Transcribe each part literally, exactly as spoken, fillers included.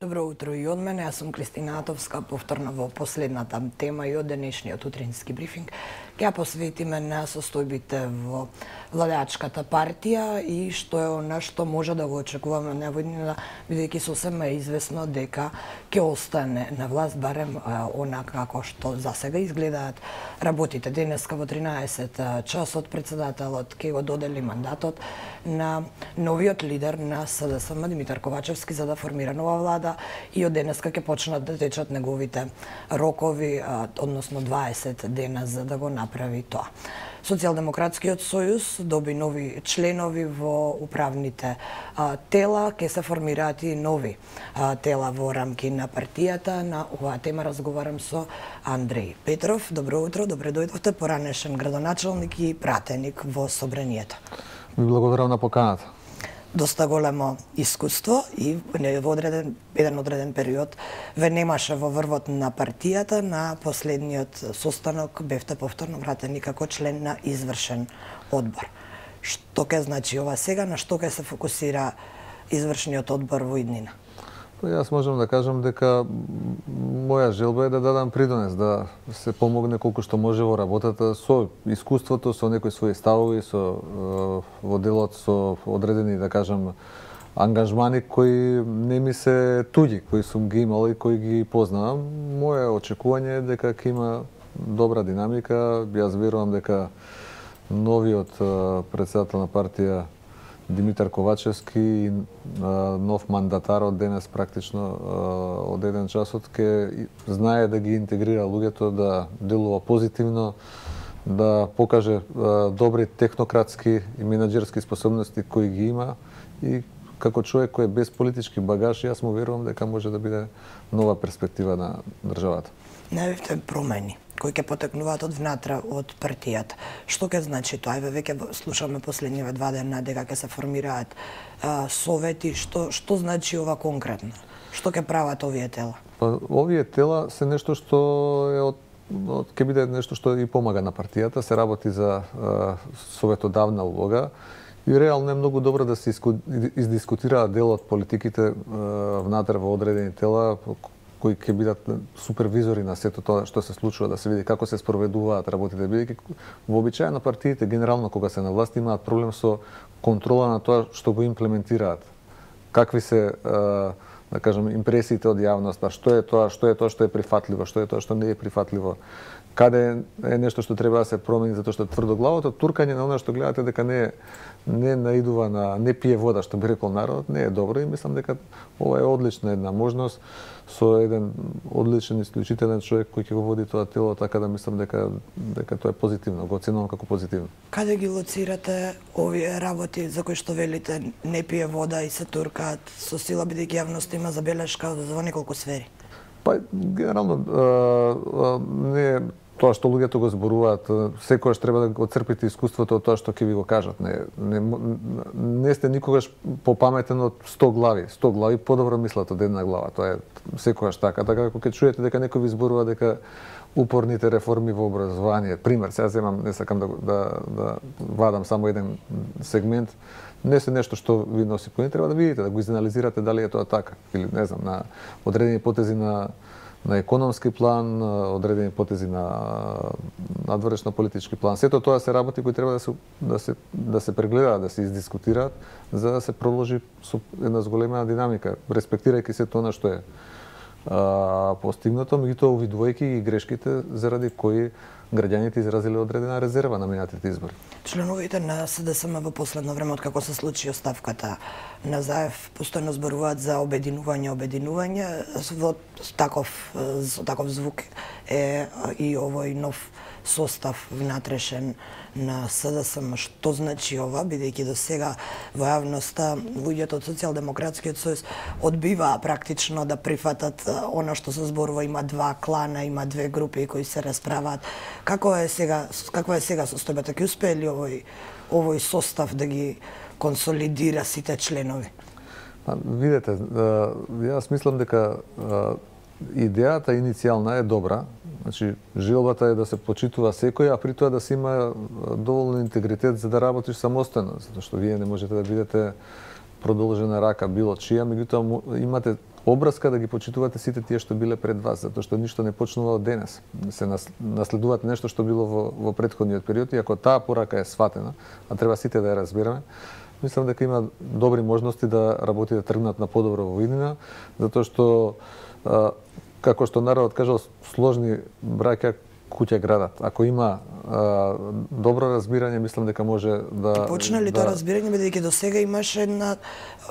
Добро утро и од мене, јас сум Кристина Атовска, повторно во последната тема и од денешниот утрински брифинг. Ќе ја посветиме на состојбите во владеачката партија и што е она што може да го очекуваме од невојднина, бидејќи сосема е известно дека ќе остане на власт, барем онака како што за сега изгледаат работите. Денеска во тринаесет часот председателот ќе го додели мандатот на новиот лидер на СДСМ Димитар Ковачевски за да формира нова влада и од денеска ќе почнат да течат неговите рокови, односно дваесет дена за да го направи тоа. Социјалдемократскиот сојуз доби нови членови во управните а, тела, ќе се формираат и нови а, тела во рамки на партијата. На оваа тема разговарам со Андреј Петров. Добро утро, добре дојдовте, поранешен градоначалник и пратеник во Собранието. Ви благодарам на поканата. Доста големо искуство и во одреден, еден одреден период ве немаше во врвот на партијата. На последниот состанок бевте повторно вратени како член на извршен одбор. Што ќе значи ова сега, на што ќе се фокусира извршниот одбор во иднина? Јас можам да кажам дека моја желба е да дадам придонес, да се помогне колку што може во работата со искуството, со некои своји ставови, со во делот со одредени, да кажам, ангажмани кои не ми се туѓи, кои сум ги имал и кои ги познавам. Моје очекување е дека ќе има добра динамика. Јас верувам дека новиот председател на партија Димитар Ковачевски и нов мандатар од денес практично од еден часот ќе знае да ги интегрира луѓето, да делува позитивно, да покаже добри технократски и менаџерски способности кои ги има и како човек кој е без политички багаж, јас му верувам дека може да биде нова перспектива на државата. Најавивте промени кои ќе потекнуваат од внатре од партијата. Што ќе значи тоа? Еве веќе слушаме последниве два дена дека ќе се формираат а, совети. Што што значи ова конкретно? Што ќе прават овие тела? Па, овие тела се нешто што е од од ќе биде нешто што и помага на партијата, се работи за а, советодавна улога и реално е многу добро да се издискутираат дел од политиките а, внатре во одредени тела кои ќе бидат супервизори на сето тоа што се случува, да се види како се спроведуваат работите, бидејќи вообичаено партиите генерално кога се на власт имаат проблем со контрола на тоа што го имплементираат. Какви се, да кажем, импресиите од јавноста, што е тоа, што е тоа што е прифатливо, што е тоа што не е прифатливо. Каде е нешто што треба да се промени затоа што тврдоглавото туркање на она што гледате дека не не наидува на не пие вода, што би рекол народот, не е добро и мислам дека ова е одлична една можност со еден одличен исклучителен човек кој ќе го води тоа тело, така да мислам дека дека тоа е позитивно, го оценувам како позитивно. Каде ги лоцирате овие работи за кои што велите не пие вода и се туркаат со сила, бидејќи јавноста има забелешка во неколку сфери? Па генерално не тоа што луѓето го зборуваат, секогаш треба да го црпите искуството од тоа што ќе ви го кажат. Не, не, не сте никогаш попаметен од сто глави. сто глави подобро мислат од една глава. Тоа е секогаш така. Така ако ќе чуете дека некој ви зборува дека упорните реформи во образование, пример, сега земам, не сакам да, да, да вадам само еден сегмент, не се нешто што ви носи поен, треба да видите, да го изанализирате дали е тоа така. Или, не знам, на одредени потези на на економски план, одредени потези на надворешно политички план. Сето тоа се работи кои треба да се да се да се прегледаат, да се издискутираат за да се продолжи со една зголемена динамика, респектирајќи сето она што е а, постигнато, меѓутоа увидувајќи и грешките заради кои граѓаните изразиле одредена резерва на минатите избори. Членовите на СДСМ во последно време, откако се случи оставката на Заев, постојано зборуваат за обединување, обединување. Во таков, со таков звук е и овој нов состав внатрешен на СДСМ. Што значи ова, бидејќи до сега во јавноста луѓето од Социјалдемократскиот сојуз одбиваа практично да прифатат она што се зборува, има два клана, има две групи кои се расправаат. Како е сега, каква е сега состојбата? Ќе успее ли овој овој состав да ги консолидира сите членови? Па, видете, јас мислам дека идејата иницијална е добра. Значи, желбата е да се почитува секој, а при тоа да се има доволно интегритет за да работиш самостојно, затоа што вие не можете да бидете продолжена рака било чија, меѓутоа имате обрска да ги почитувате сите тие што биле пред вас, затоа што ништо не почнува од денес. Се наследуваат нешто што било во, во претходниот период и ако таа порака е сватена, а треба сите да ја разбереме, мислам дека има добри можности да работи да тргнат на подобро во иднина, затоа што а, како што народот кажал, сложни браќа куќа градат. Ако има а, добро разбирање, мислам дека може да... И почна ли да... тоа разбирање, бидејќи до сега имаше една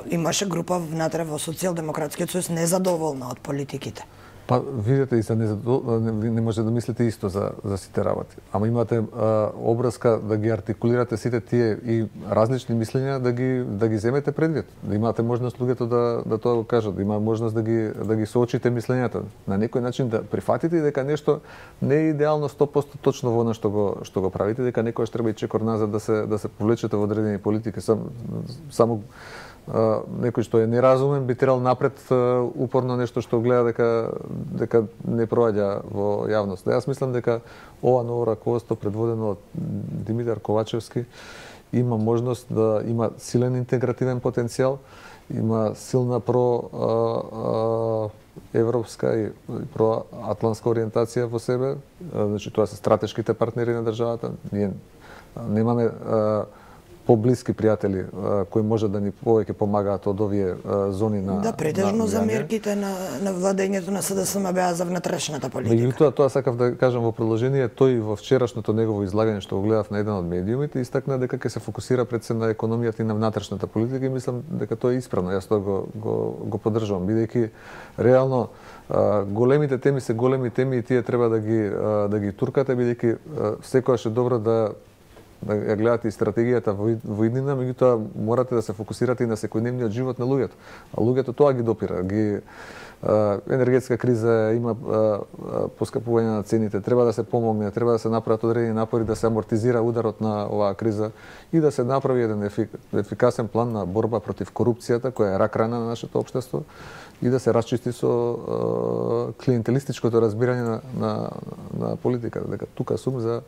имаше група внатре во Социјалдемократскиот сојуз незадоволна од политиките. Па видете и за незадовол... не, не може да мислите исто за за сите работи. Ама имате а, обрска да ги артикулирате сите тие и различни мислења да ги да ги земете предвид. Да имате можност луѓето да да тоа го кажат, да има можност да ги да ги соочите мислењата. На некој начин да прифатите дека нешто не е идеално сто проценти точно во она што го што го правите, дека некојаш треба и чекор назад да се да се повлечете во одредени политики. Сам, само Uh, некој што е неразумен би терал напред uh, упорно нешто што гледа дека дека не проаѓа во јавност. Јас мислам дека ова ново раководство предводено од Димитар Ковачевски има можност да има силен интегративен потенцијал, има силна про uh, uh, европска и проатлантска ориентација во себе. Uh, значи тоа се стратешките партнери на државата. Ние немаме uh, поблиски пријатели кои може да ни повеќе помагаат од овие зони на да претежно на за мерките на на владењето на СДСМ беа за внатрешната политика. Меѓутоа тоа сакав да кажам во продолжение, тој во вчерашното негово излагање што го гледав на еден од медиумите истакна дека ќе се фокусира пред се на економијата и на внатрешната политика и мислам дека тоа е исправно. Јас тоа го го го поддржувам бидејќи реално големите теми се големи теми и тие треба да ги да ги туркате бидејќи секогаш е добро да да ја гледате и стратегијата во иднина, меѓутоа морате да се фокусирате и на секојдневниот живот на луѓето. А луѓето тоа ги допира, ги а, енергетска криза, има а, поскапување на цените, треба да се помогне, треба да се направат одредени напори да се амортизира ударот на оваа криза и да се направи еден ефик, ефикасен план на борба против корупцијата, која е рак рана на нашето општество и да се расчисти со а, клиентелистичкото разбирање на, на, на политиката, дека тука сум за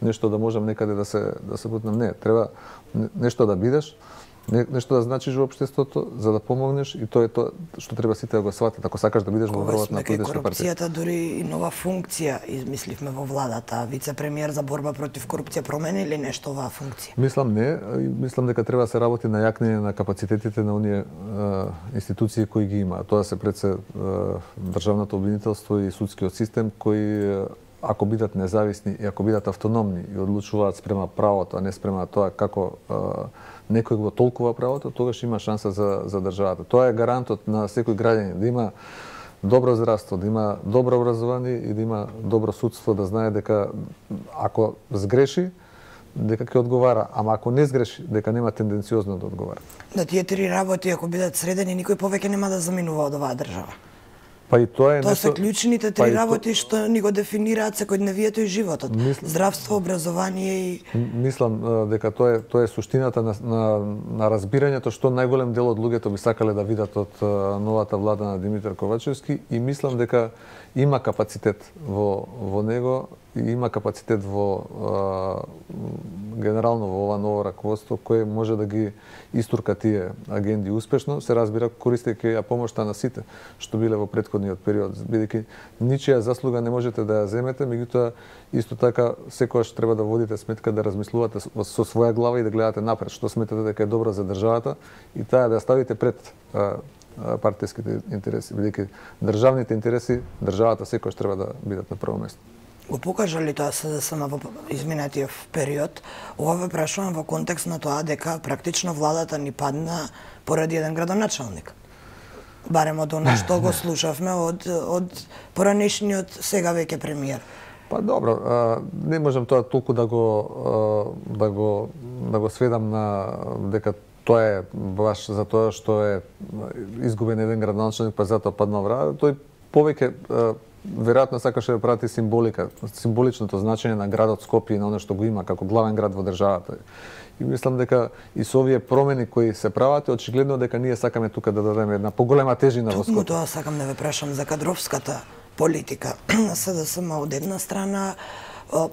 нешто да можам некаде да се да се бутнам. Не, треба нешто да бидеш, не, нешто да значиш во општеството за да помогнеш и тоа е тоа што треба сите да го сватат ако сакаш да бидеш во врвот на политичка партија. Корупцијата дури и нова функција измисливме во владата, вице-премиер за борба против корупција промени ли нешто оваа функција? Мислам не, мислам дека треба да се работи на јакнење на капацитетите на оние институции кои ги има. Тоа се пред се државното обвинителство и судскиот систем кои ако бидат независни и ако бидат автономни и одлучуваат спрема правото, а не спрема тоа како а, некој го толкува правото, тогаш има шанса за, за државата. Тоа е гарантот на секој граѓанин, да има добро здравство, да има добро образование и да има добро судство, да знае дека ако сгреши, дека ќе одговара, ама ако не сгреши, дека нема тенденциозно да одговара. Да тие три работи, ако бидат средени, никој повеќе нема да заминува од оваа држава. Па и тоа е Тоа нешто... се клучните три па работи што ни го дефинираат секојдневието и животот. Мисл... Здравство, образование и... Мислам дека тоа е тоа е суштината на, на, на разбирањето што најголем дел од луѓето би сакале да видат од новата влада на Димитар Ковачевски и мислам дека има капацитет во во него и има капацитет во а, генерално во ова ново раководство кое може да ги истурка тие агенди успешно, се разбира користејќи ја помошта на сите што биле во претходниот период, бидејќи ничија заслуга не можете да ја земете, меѓутоа исто така секогаш треба да водите сметка да размислувате со своја глава и да гледате напред што сметате дека е добро за државата и таа да ја ставите пред а, партиските интереси, бидејќи државните интереси, државата секогаш треба да бидат на прво место. Го покажа ли тоа СДСМ во изминатиот период? Ова ве прашувам во контекст на тоа дека практично владата ни падна поради еден градоначалник. Барем од она што го слушавме од од поранешниот сега веќе премиер. Па добро, а, не можам тоа толку да го а, да го да го сведам на дека тоа е баш за тоа што е изгубен еден градоначалник па затоа паднал враг. Тој повеќе веројатно сакаше да прати символика, символичното значење на градот Скопје и на оно што го има како главен град во државата. И мислам дека и со овие промени кои се прават, очигледно дека ние сакаме тука да дадеме една поголема тежина во Скопје. Токму тоа сакам да ве прашам за кадровската политика на СДСМ од една страна.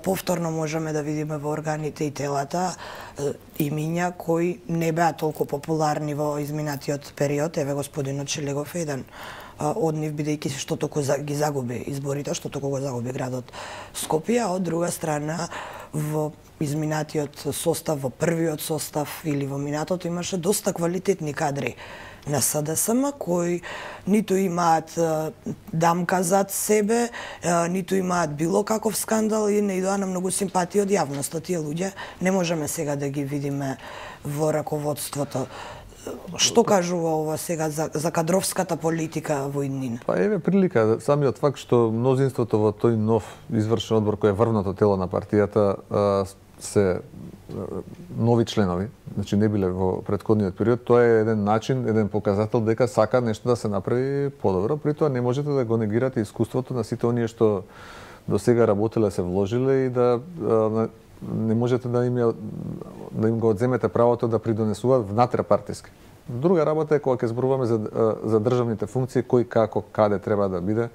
Повторно можеме да видиме во органите и телата имиња кои не беа толку популарни во изминатиот период. Еве господинот Шелегов е еден од нив, бидејќи што толку ги загуби изборите, што толку го загуби градот Скопје, а од друга страна во изминатиот состав, во првиот состав или во минатото имаше доста квалитетни кадри на СДСМ кои ниту имаат дамка зад себе, ниту имаат било каков скандал и не идоа на многу симпатија од јавноста. Тие луѓе не можеме сега да ги видиме во раководството. Што кажува ова сега за, за кадровската политика во иднина? Па еве прилика, самиот факт што мнозинството во тој нов извршен одбор кој е врвното тело на партијата се нови членови, значи не биле во претходниот период, тоа е еден начин, еден показател дека сака нешто да се направи подобро, при тоа не можете да го негирате искуството на сите оние што до сега работеле, се вложиле и да не можете да им да им го одземете правото да придонесуваат внатрепартиски. Друга работа е кога ќе зборуваме за за државните функции, кој како каде треба да биде.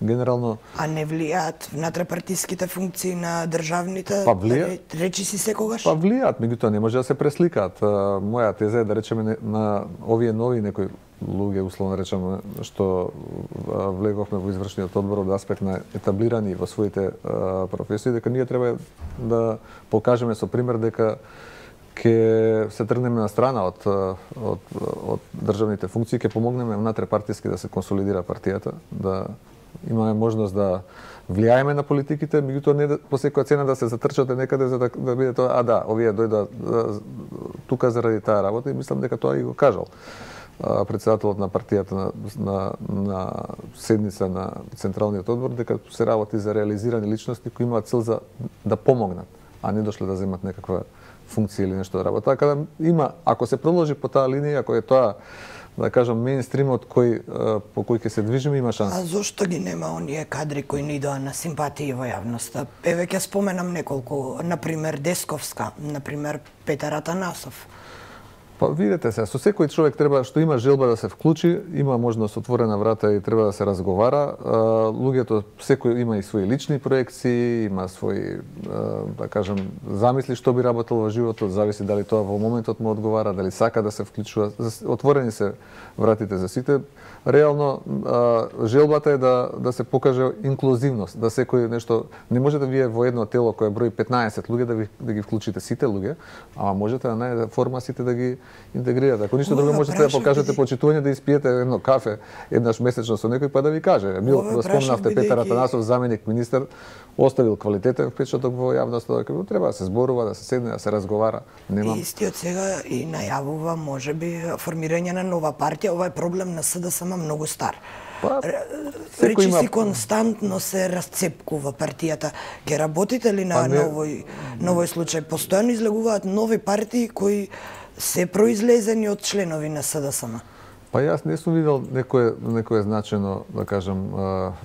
Генерално А не влијаат внатрепартиските функции на државните? Па влијаат. Речи си секогаш? Па влијаат, меѓутоа не може да се пресликаат. Моја теза е да речеме на овие нови некои луѓе, условно речеме, што влеговме во извршниот одбор од аспект на етаблирани во своите професии, дека ние треба да покажеме со пример дека ќе се тргнеме на страна од, од, од државните функции, ќе помогнеме внатрепартиски да се консолидира партијата, да имаме можност да влијаеме на политиките, меѓутоа не да, по секоја цена да се затрчате некаде за да, да биде тоа, а да, овие дојдоа да, тука заради таа работа и мислам дека тоа и го кажал председателот на партијата на, на, на седница на Централниот одбор, дека се работи за реализирани личности кои имаат цел за да помогнат, а не дошле да земат некаква функција или нешто да работи. Така да има, ако се продолжи по таа линија, ако е тоа, да кажам, меинстримот кој по кој ќе се движиме, има шанс. А зошто ги нема оние кадри кои не идоа на симпатија во јавноста? Еве ќе споменам неколку, на пример Десковска, на пример Петар Атанасов. Па видете се, со секој човек треба што има желба да се вклучи, има можност отворена врата и треба да се разговара. Луѓето секој има и своји лични проекции, има своји, да кажам, замисли што би работел во животот, зависи дали тоа во моментот му одговара, дали сака да се вклучува. Отворени се вратите за сите. Реално желбата е да да се покаже инклузивност, да секој нешто не може да вие во едно тело кое брои петнаесет луѓе да ви да ги вклучите сите луѓе, а можете на најде форма сите да ги интегрирате. Ако ништо друго можете да покажете почитување, да испиете едно кафе еднаш месечно со некој па да ви каже. Бил да спомнавте Петар Атанасов, заменик министер, оставил квалитетен впечаток во јавноста, дека треба да се зборува, да се седне, да се разговара. Немам. Истиот сега и најавува можеби формирање на нова партија. Ова е проблем на СДСМ многу стар. Па, Речи има... си константно се расцепкува партијата. Ке работите ли на, па, не... на овој, на овој случај? Постојано излегуваат нови партии кои се произлезени од членови на СДСМ. Па јас не сум видел некое некое значено, да кажам,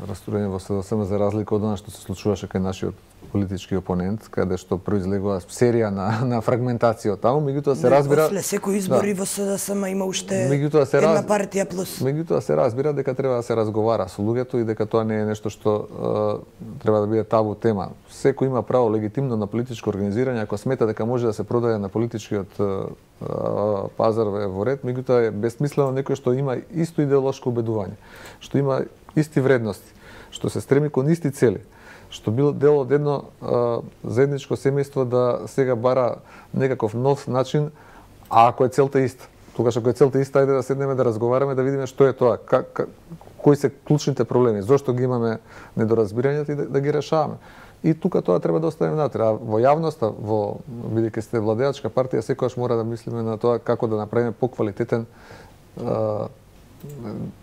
растурење во СДСМ за разлика од она што се случуваше кај нашиот политички опонент, каде што произлегува серија на на фрагментација таму, меѓутоа се разбира. После секој избори да. Во СДСМ има уште се една раз... партија плюс. Меѓутоа се разбира дека треба да се разговара со луѓето и дека тоа не е нешто што е, треба да биде табу тема. Секој има право легитимно на политичко организирање, ако смета дека може да се продаде на политичкиот е, пазар во ред, меѓутоа е бесмислено некој што има исто идеолошко убедување, што има исти вредности, што се стреми кон исти цели, што бил дел од едно а, заедничко семејство да сега бара некаков нов начин, а ако е целта иста. Тогаш ако е целта иста, ајде да седнеме да разговараме, да видиме што е тоа, как, как, кои се клучните проблеми, зошто ги имаме недоразбирањата и да, да ги решаваме. И тука тоа треба да оставиме натре. А во јавноста, во бидејќи сте владеачка партија, секогаш мора да мислиме на тоа како да направиме поквалитетен а,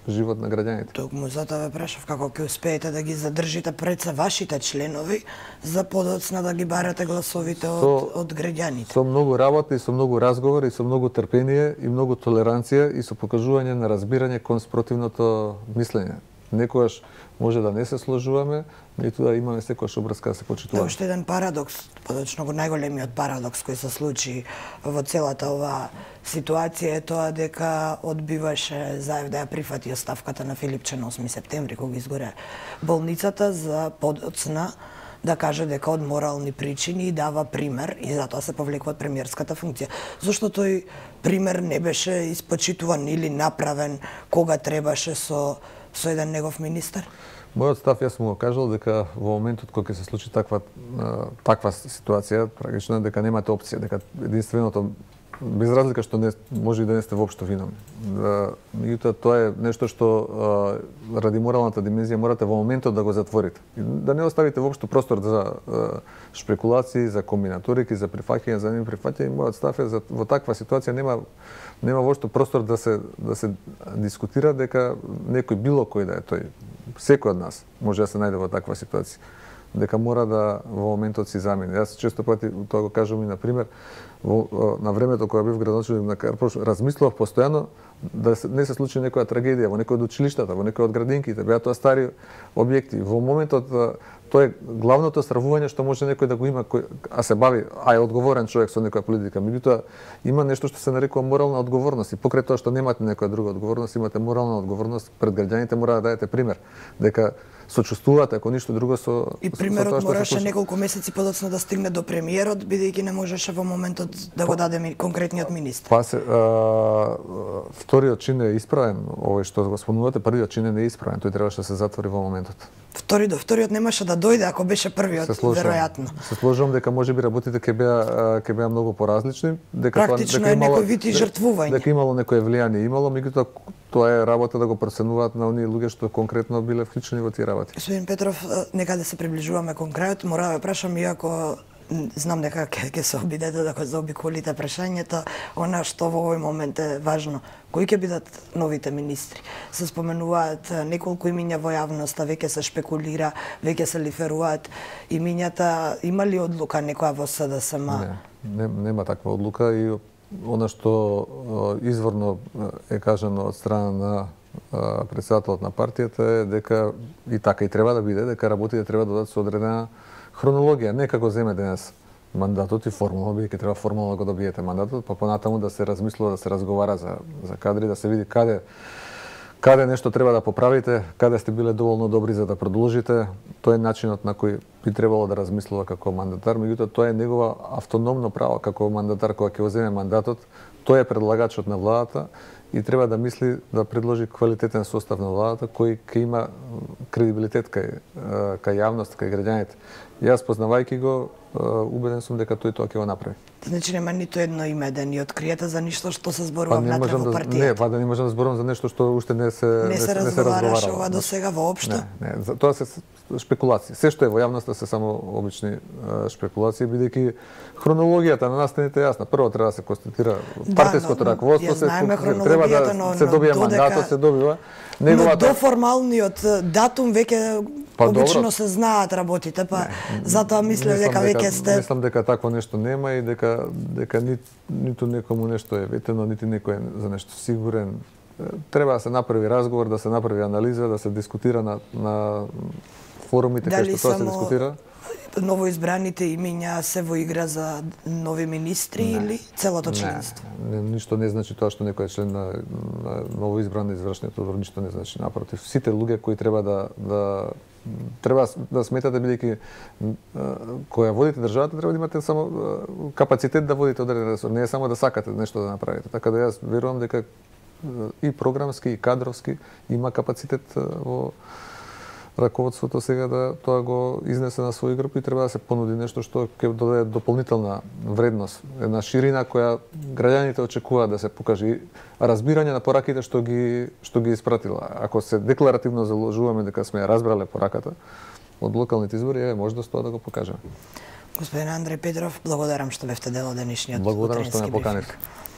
живот на граѓаните. Токму затоа ве прашав како ќе успеете да ги задржите пред се вашите членови за подоцна да ги барате гласовите од, со, од граѓаните. Со многу работа и со многу разговори и со многу трпение и многу толеранција и со покажување на разбирање кон спротивното мислење. Некојаш може да не се сложуваме, ниту да имаме секојаш обрска да се почитуваме. Уште еден парадокс, подочно го најголемиот парадокс кој се случи во целата оваа ситуација е тоа дека одбиваше Заев да ја прифати оставката на Филипче на осми септември кога изгоре болницата за подоцна да каже дека од морални причини и дава пример и затоа се повлекува од премиерската функција. Зошто тој пример не беше испочитуван или направен кога требаше со со еден негов министер? Мојот став, јас му го кажал дека во моментот кога ќе се случи таква таква ситуација, трагична, дека немате опција, дека единственото, без разлика што не може и да не сте воопшто виновни. Меѓутоа тоа е нешто што ради моралната димензија морате во моментот да го затворите. Да не оставите воопшто простор за шпекулации, за комбинаторики, за прифаќање, за неприфаќање. Мојот став е за во таква ситуација нема нема воопшто простор да се да се дискутира дека некој било кој да е тој, секој од нас може да се најде во таква ситуација, дека мора да во моментот си замине. Јас често пати тоа го кажувам и на пример во, на времето кога бев градоначелник на Карпош, размислував постојано да се, не се случи некоја трагедија во некој од училиштата, во некој од градинките, беа тоа стари објекти. Во моментот тоа е главното стравување што може некој да го има, кој, а се бави, а е одговорен човек со некоја политика. Меѓутоа има нешто што се нарекува морална одговорност и покрај тоа што немате некоја друга одговорност, имате морална одговорност пред граѓаните, мора да дадете пример дека сочувствувате, ако ништо друго со и примерот мораше неколку месеци подоцна да стигне до премиерот, бидејќи не можеше во моментот да го даде конкретниот министер. Па се а, вториот чин е исправен, овој што го спомнувате, првиот чин не е исправен, тој требаше да се затвори во моментот. Втори до вториот немаше да дојде ако беше првиот, веројатно. Се сложувам дека можеби работите ќе беа ќе беа многу поразлични, дека практично тоа дека е некој вид и жртвување. Дека имало некое влијание, имало, меѓутоа тоа е работа да го проценуваат на оние луѓе што конкретно биле вклучени во тие работи. Господин Петров, некаде се приближуваме кон крајот, мора да прашам, иако знам дека ќе ќе се обидете да го заобиколите прашањето, она што во овој момент е важно, кои ќе бидат новите министри? Се споменуваат неколку имиња во јавноста, веќе се шпекулира, веќе се лиферуваат имињата. Има ли одлука некоја во СДСМ? Не, не, нема таква одлука и она што изворно е кажано од страна на председателот на партијата е дека и така и треба да биде, дека работите треба да дадат со одредена хронологија, не како земе денес мандатот и формално, бидејќи треба формално да го добиете мандатот, па понатаму да се размислува, да се разговара за за кадри, да се види каде каде нешто треба да поправите, каде сте биле доволно добри за да продолжите. Тоа е начинот на кој би требало да размислува како мандатар, меѓутоа тоа е негова автономно право како мандатар кога ќе го земе мандатот. Тој е предлагачот на владата и треба да мисли да предложи квалитетен состав на владата кој ќе има кредибилитет кај кај јавност, кај граѓаните. Јас познавајќи го, убеден сум дека тој тоа ќе го направи. Значи нема ниту едно име да ни откриете за ништо што се зборува па внатре во да, партијата. Не, па да не можам да зборувам за нешто што уште не се не се, не се разговараше ова до сега воопшто. Не, не, за тоа се шпекулации. Се што е во јавноста се само обични шпекулации, бидејќи хронологијата на настаните е јасна. Прво треба да се констатира партиското да, раководство, се треба да но, се добие но, мандатот, се добива. Неговата... Но до формалниот датум веќе па, обично добро. Се знаат работите, па не, затоа мислев дека веќе сте. Мислам дека такво нешто нема и дека дека ни, ниту некому нешто е ветено, нити некој е за нешто сигурен. Треба да се направи разговор, да се направи анализа, да се дискутира на на форумите кај што тоа се дискутира. Новоизбраните имиња се во игра за нови министри не, или целото членство? Не, не, ништо не значи тоа што некој е член на, на новоизбран извршниот одбор, ништо не значи, напротив. Сите луѓе кои треба да да треба да сметате, бидејќи која водите државата, треба да имате само капацитет да водите одреден ресор, не е само да сакате нешто да направите. Така да јас верувам дека и програмски и кадровски има капацитет во раководството сега да тоа го изнесе на свој групи и треба да се понуди нешто што ќе додаде дополнителна вредност, една ширина која граѓаните очекуваат да се покаже, разбирање на пораките што ги што ги испратила. Ако се декларативно заложуваме дека сме разбрале пораката од локалните избори, е можност тоа да го покажеме. Господин Андреј Петров, благодарам што бевте дел од денешниот Благодарам што ме утрински брифинг. поканете.